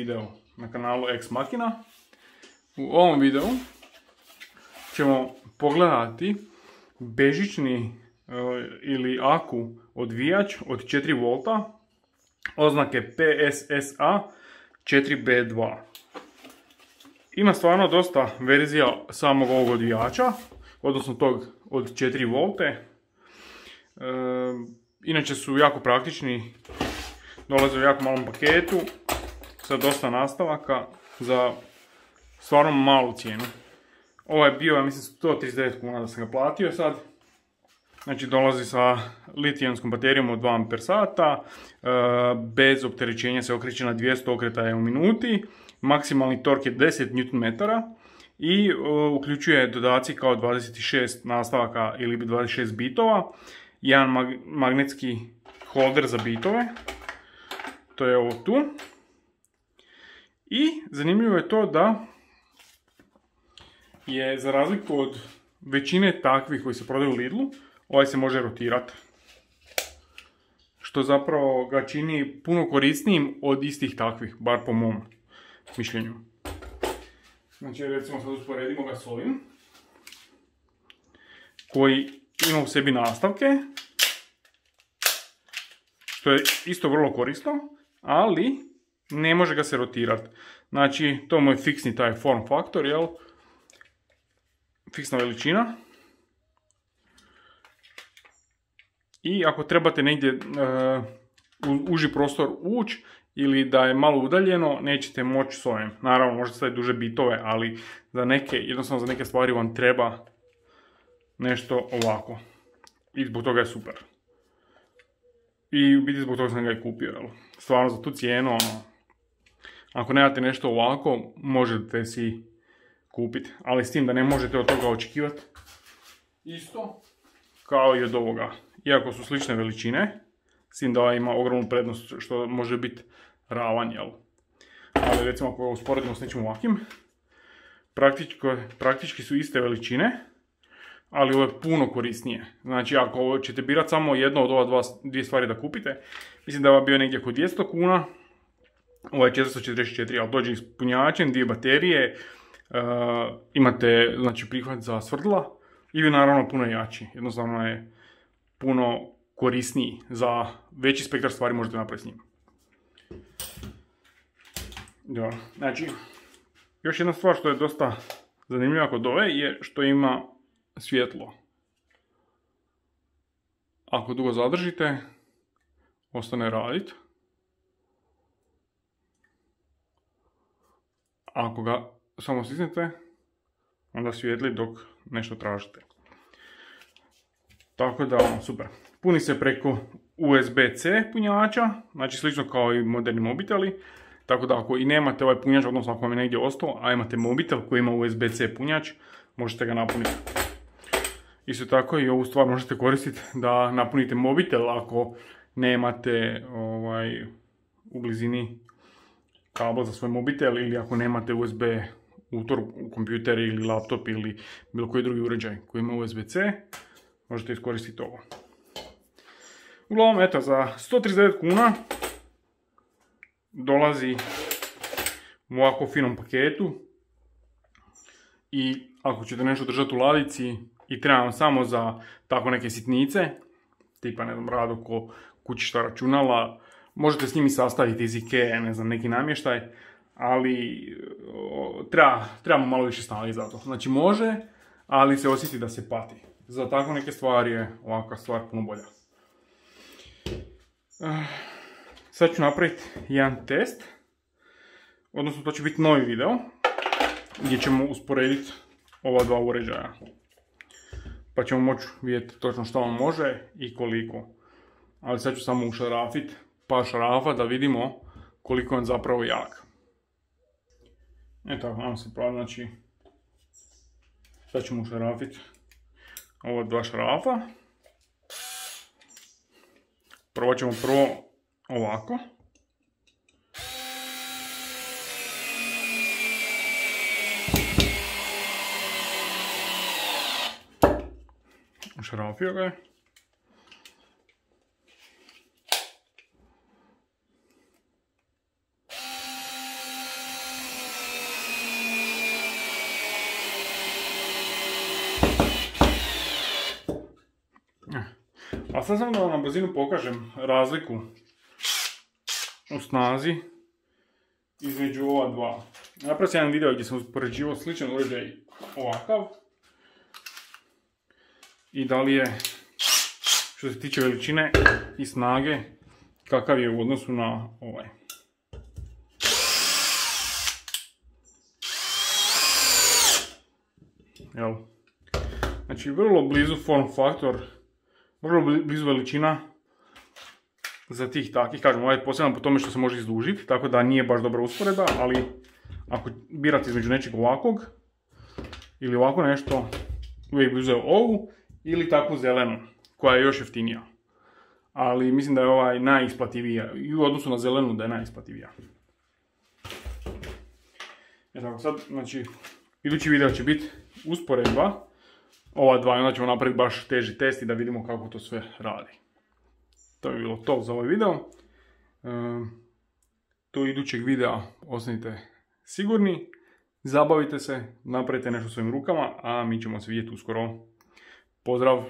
video na kanalu Ex Machina. U ovom videu ćemo pogledati bežični ili aku odvijač od 4 V oznake PSSA 4B2. Ima stvarno dosta verzija samog ovog odvijača, odnosno tog od 4 V. Inače su jako praktični, dolaze u jako malom paketu sa dosta nastavaka za stvarno malu cijenu. Ovo je bio, ja mislim, 139 kuna da sam ga platio sad. Znači dolazi sa litijonskom baterijom od 2 Ah, bez opterećenja se okreće na 200 okretaja u minuti, maksimalni tork je 10 Nm i uključuje dodaci kao 26 nastavaka ili 26 bitova, jedan magnetski holder za bitove, to je ovo tu. I zanimljivo je to da je, za razliku od većine takvih koji se prodaju u Lidlu, ovaj se može rotirati, što zapravo ga čini puno korisnijim od istih takvih, bar po mom mišljenju. Znači recimo sad usporedimo ga s ovim, koji ima u sebi nastavke, što je isto vrlo korisno, ali ne može ga se rotirati. Znači to mu je fiksni taj form faktor, jel? Fiksna veličina. I ako trebate negdje u uži prostor ući ili da je malo udaljeno, nećete moći s ovim. Naravno, možete staviti duže bitove, ali za neke, jednostavno za neke stvari vam treba nešto ovako. I zbog toga je super. I u biti zbog toga sam ga i kupio. Jel? Stvarno za tu cijenu, ako nemate nešto ovako, možete si kupiti. Ali s tim da ne možete od toga očekivati isto kao i od ovoga. Iako su slične veličine, s tim da ima ogromnu prednost što može biti ravan, jel? Ali recimo ako usporedimo s nečim ovakvim, praktički su iste veličine, ali ovo je puno korisnije. Znači ako ćete birati samo jedno od ova dvije stvari da kupite, mislim da je ovo bio negdje oko 200 kuna, ovo je 444, ali dođe s punjačem, 2 baterije, imate znači prihvat za svrdla i vi naravno puno jači, jednostavno je puno korisniji, za veći spektar stvari možete napraviti s njim. Dobro, znači, još jedna stvar što je dosta zanimljiva kod ove je što ima svjetlo. Ako dugo zadržite, ostane radit. Ako ga samo stisnete, onda svijetli dok nešto tražite. Tako da, super. Puni se preko USB-C punjača, znači slično kao i moderni mobiteli. Tako da ako i nemate ovaj punjač, odnosno ako vam je negdje ostao, a imate mobitel koji ima USB-C punjač, možete ga napuniti. Isto tako i ovu stvar možete koristiti da napunite mobitel ako nemate u blizini kabel za svoj mobitel ili ako nemate USB utor u kompjuter ili laptop ili bilo koji drugi uređaj koji ima USB-C, možete iskoristiti ovo. Uglavnom, eto, za 139 kuna dolazi u ovako finom paketu i ako ćete nešto držati u ladici i treba vam samo za tako neke sitnice, tipa, ne znam, rado ko kućišta računala, možete s njimi sastaviti iz Ikea, ne znam, neki namještaj, ali trebamo malo više snage za to. Znači može, ali se osjeti da se pati. Za tako neke stvari je ovakva stvar puno bolja. Sad ću napraviti jedan test, odnosno to će biti novi video gdje ćemo usporediti ova dva uređaja. Pa ćemo moći vidjeti točno što on može i koliko. Ali sad ću samo ušarafiti par šarafa da vidimo koliko je on zapravo jak. Eto, vam se pravi, znači sad ćemo ušarafiti ova dva šarafa. Prvo ćemo ovako. Ušarafio ga je. A sad samo da vam na brzinu pokažem razliku u snazi između ova dva. Napravio sam jedan video gdje sam uspoređivao sličan uređaj ovakav. I da li je, što se tiče veličine i snage, kakav je u odnosu na ovaj. Jel? Znači vrlo blizu form faktor, vrlo blizu veličina za tih takih, kažem, ovaj je poseban po tome što se može izdužiti, tako da nije baš dobra usporedba, ali ako birate između nečeg ovakvog ili ovako nešto, uvijek bi uzeo ovu ili takvu zelenu, koja je još jeftinija. Ali mislim da je ovaj najisplativija, i u odnosu na zelenu da je najisplativija. Tako sad, znači, idući video će biti usporedba ova dva, onda ćemo napraviti baš teži test i da vidimo kako to sve radi. To je bilo to za ovaj video. Do idućeg videa ostanite sigurni, zabavite se, napravite nešto svojim rukama, a mi ćemo se vidjeti uskoro. Pozdrav!